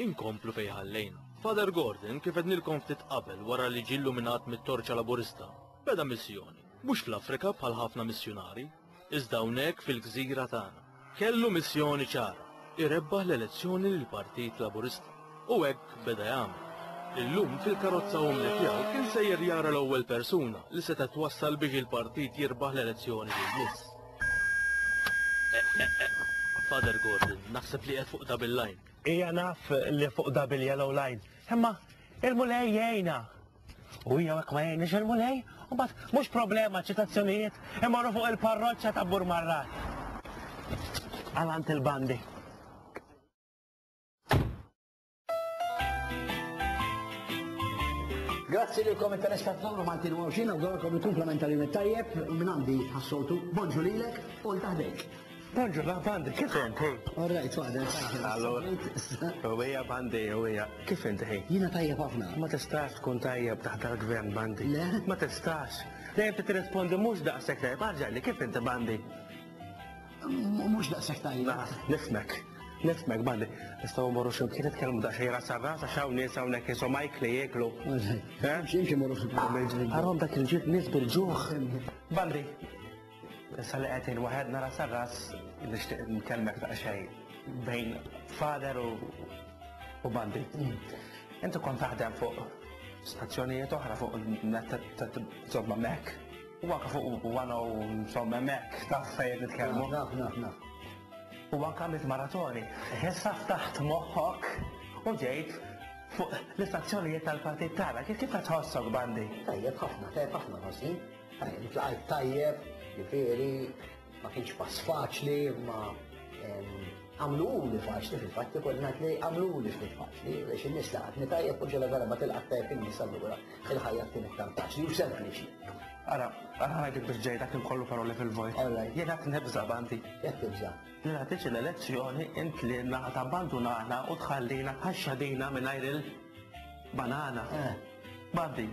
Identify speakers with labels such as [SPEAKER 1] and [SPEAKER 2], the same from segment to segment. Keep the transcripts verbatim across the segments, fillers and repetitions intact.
[SPEAKER 1] Inkomplu fejn ħallejna. Father Gordon kif għednilkom ftit qabel wara li ġie illuminat mit-torċa laburista, beda missjoni, mhux fl-Afrika bħal ħafna missjonari, iżda hawnhekk fil-gżira tagħna. Kellu missjoni ċara, irebbaħ l-elezzjoni lill-Partit Laburista. U hekk beda jagħmel. Illum fil-karozza umli tiegħu kien sejjer jara l-ewwel persuna li seta' twassal biex il-partit jirbaħ l-elezzjoni li jmiss. Eh, eh, eh. Father Gordon, naħseb li qed fuq double line.
[SPEAKER 2] Ija naf li fuq double yellow line. Imma il-Mulej jgħinna. U hija hekk ma jgħinix il-Mulej, u mbagħad mhux problema ċitazzjonijiet imorru fuq il-parroċċa ta' Burmarrat. Għalant il-bandi.
[SPEAKER 3] Grazzi lilkom it-telespettaturi Maltin u Għawdxin, nawguralkom il-kumplament tal-jum it-tajjeb minn għandi ħassoltu. Bonġu lilek u l taħdejk.
[SPEAKER 2] Bonġu, la bandi, kif inti?
[SPEAKER 3] All right, father.
[SPEAKER 2] Allora, u hija bandi, u hija, kif inti ħi?
[SPEAKER 3] Jiena tajjeb ħafna.
[SPEAKER 2] Ma tistax tkun tajjeb taħt dal-gvern bandi.
[SPEAKER 3] Le?
[SPEAKER 2] Ma tistax. Dejjem tirrispondi mhux daqshekk tajjeb, arġa' li kif inti bandi?
[SPEAKER 3] M- Mhux daqshekk tajjeb.
[SPEAKER 2] Na, nifmek. Nifmek, bandi. Nistgħu mmorru xi mkien nitkellmu daqsxejn ras ras għax hawn nies hawnhekk insomma jikli jieklu.
[SPEAKER 3] All right.
[SPEAKER 2] Eh?
[SPEAKER 3] Imxi, imxi morru fil
[SPEAKER 2] Arhom dak il-ġid nies bil-ġuħ. Bandi, issa li qegħdin waħedna ras ras nixtieq nkellmek daqsxejn bejn father u u Bandi. Inti kont taħdem fuq stazzjonijiet oħra fuq net ta' insomma mek. U anke fuq one u insomma mek taf fejn nitkellmu.
[SPEAKER 3] Naf, naf, naf.
[SPEAKER 2] U anke għamilt maratoni. Issa ftaħt moħħok u ġejt fuq l-istazzjonijiet tal-partit tagħna. Kif kif qed tħossok Bandi?
[SPEAKER 3] Tajjeb ħafna, tajjeb ħafna ħossi. Tajjeb, tlaqajt tajjeb, ġifieri, ma kienx pass faċli, ma għamluli faċli fil-fatt, ikolli ngħid li għamluli ftit faċli, biex in-nies laqatni tajjeb u ġela darba tilqat tajjeb in-nies allura il-ħajja tkun iktar faċli u sempliċi.
[SPEAKER 2] Ara, ara ngħidlek biex ġej dak kollu paroli fil-vojt.
[SPEAKER 3] All right.
[SPEAKER 2] Jiena qed nibża' Bandi.
[SPEAKER 3] Jekk tibża'.
[SPEAKER 2] Li nagħtiġ l-elezzjoni int li naħa tabbandunana u tħallina bħax-xadina mingħajr il-banana.
[SPEAKER 3] Eh.
[SPEAKER 2] Bandi,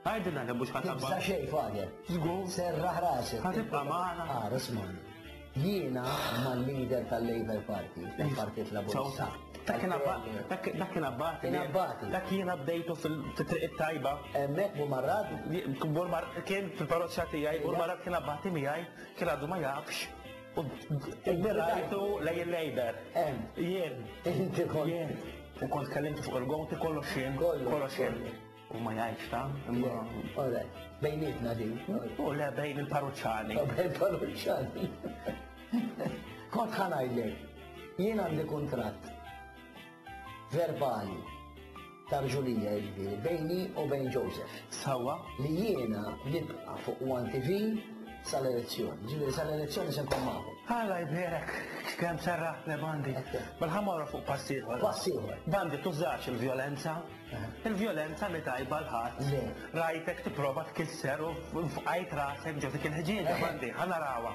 [SPEAKER 2] għajdilna li mhux
[SPEAKER 3] Tibża'
[SPEAKER 2] ħa tabbanduna.
[SPEAKER 3] xejn, father.
[SPEAKER 2] Żgur.
[SPEAKER 3] Serraħ rasek.
[SPEAKER 2] Ħa tibqa' magħna.
[SPEAKER 3] Ah, ismagħni. Jiena mal-leader tal-Labour Party, tal-Partit Laburista.
[SPEAKER 2] Dak kien abba- dak dak kien abbati.
[SPEAKER 3] Kien abbati.
[SPEAKER 2] Dak jiena bdejtu fil-triq it-tajba.
[SPEAKER 3] Hemmhekk Burmarrad,
[SPEAKER 2] Burmar kien fil-parroċċa tiegħi, Burmarrad kien abbati miegħi, kien għadu ma jafx. U rajtu lej il-Labour.
[SPEAKER 3] Hemm.
[SPEAKER 2] Jien.
[SPEAKER 3] Inti kont.
[SPEAKER 2] Jien. U kont kellimtu fuq il-gowti kollox jien.
[SPEAKER 3] Kollox,
[SPEAKER 2] Kollox jien.
[SPEAKER 3] kollox.
[SPEAKER 2] U ma jgħidx ta' imma.
[SPEAKER 3] All right. Bejnietna din.
[SPEAKER 2] U le bejn il-parroċċani.
[SPEAKER 3] Bejn parroċċani. Kont ħa ngħidlek, jien għandi kuntratt verbali ta' rġulija jiġifieri bejni u bejn Joseph.
[SPEAKER 2] Sawa.
[SPEAKER 3] Li jiena nibqa' fuq One T V sal-elezzjoni. Ġifieri sal-elezzjoni se nkun magħhom.
[SPEAKER 2] Alla jbierek, kemm serraħtni Bandi. Mela ħa mmorru fuq pass ieħor.
[SPEAKER 3] Pass ieħor.
[SPEAKER 2] Bandi, tużax il-vjolenza. Il-vjolenza mi tajba l-ħadd.
[SPEAKER 3] Le.
[SPEAKER 2] Rajtek tipprova tkisser u fqajt rasek ġo dik il-ħġieġa Bandi, ħa narawha.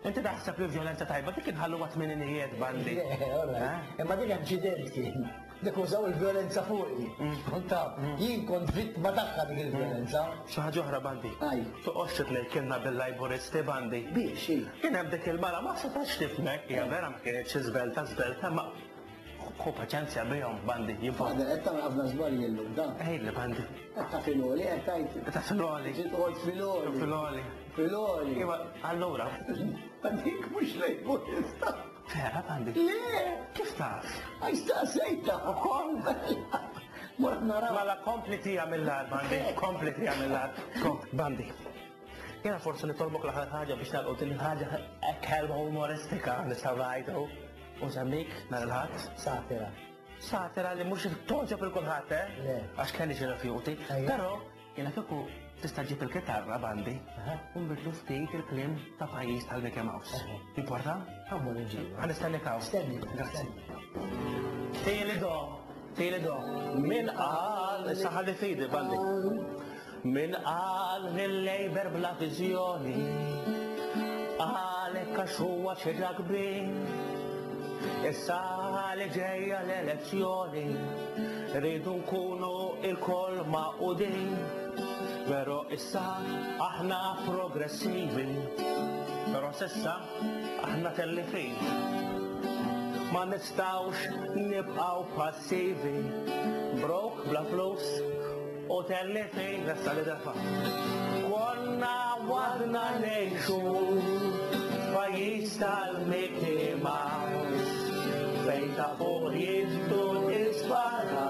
[SPEAKER 2] Inti taħseb li l-vjolenza tajba, dik inħalluha tmeninijiet Bandi.
[SPEAKER 3] Le, all right. Imma dik inċident kien. Dik użaw il-vjolenza fuqi. Kont taf, jien kont vittma tagħha dik il-vjolenza.
[SPEAKER 2] Xi ħaġa oħra Bandi.
[SPEAKER 3] Aj.
[SPEAKER 2] Toqgħodx titnejkilna bil-Laburisti Bandi.
[SPEAKER 3] Biex, hi.
[SPEAKER 2] Kien hemm dik il-mara ma setax tifmek, hija vera ma kienitx żvelta żvelta, ma ħu paċenzja bihom Bandi. Jibgħu.
[SPEAKER 3] Father, qed tagħmel ħafna żbalji llum, da.
[SPEAKER 2] Ejli Bandi.
[SPEAKER 3] Qed ta' filgħoli, qed tgħid.
[SPEAKER 2] Qed ta' filgħoli.
[SPEAKER 3] Ġiet toqgħod filgħoli.
[SPEAKER 2] Filgħoli.
[SPEAKER 3] Filgħoli.
[SPEAKER 2] Iva, allura.
[SPEAKER 3] Dik mhux Laburista.
[SPEAKER 2] Vera Bandi?
[SPEAKER 3] Le!
[SPEAKER 2] Kif taf?
[SPEAKER 3] Għax staqsejta.
[SPEAKER 2] Ukoll?
[SPEAKER 3] Mort naraw.
[SPEAKER 2] Mela kompli tija mill-ar, Bandi. Kompli tija mill-ar. Kompli, Bandi. Jena forsi nitolbok l-aħħar ħaġa biex nagħlqu din il-ħaġa hekk ħelwa umoristika nistgħu ngħidu. U semmik nhar il-Ħadd?
[SPEAKER 3] Satira.
[SPEAKER 2] Satira li mhux togħġob il kulħadd, eh?
[SPEAKER 3] Le.
[SPEAKER 2] Għax kelli xi rifjuti.
[SPEAKER 3] Ejja.
[SPEAKER 2] Però jiena kieku tista' ġib il-kitarra Bandi
[SPEAKER 3] Aha.
[SPEAKER 2] u nbidlu ftit il-kliem ta' pajjiż tal-Mickey Mouse.
[SPEAKER 3] Aha.
[SPEAKER 2] Importa?
[SPEAKER 3] Għammu nġibu.
[SPEAKER 2] Ħa nistennik hawn.
[SPEAKER 3] Stenni.
[SPEAKER 2] Grazzi. Tieli do, tieli do. Min qal, issa ħalli fidi Bandi. Min qal li l-Labour bla viżjoni, għalhekk għax huwa xi kbir. Issa li ġejja l-elezzjoni, rridu nkunu il-koll magħqudin. Però Issa aħna progressivi, però s'issa aħna tellifin. Ma nistgħux nibqgħu passivi, broke bla flus u tellifin nessa li defa. Konna għadna ngħixu f'pajjiż tal-Mickey Mouse, fejn ta' fuq jiddu ispara,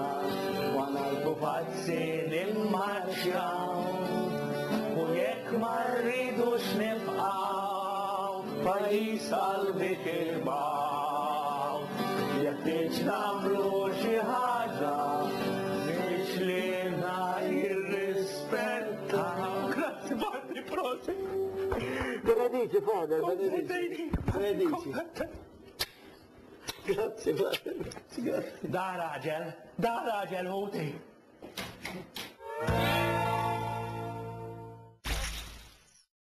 [SPEAKER 2] wana l-pupazzi nimmarxjaw. U jekk ma rridux nibqgħu pajjiż tal-Mickey Mouse, jeħtieġ nagħmlu xi ħaġa biex lilna jirrispettaw. Grazzi, Bardi, prosit.
[SPEAKER 3] Benedici, Father, benedici. Benedici. Grazzi, Father. Grazzi, grazzi.
[SPEAKER 2] Da raġel, da raġel ħuti.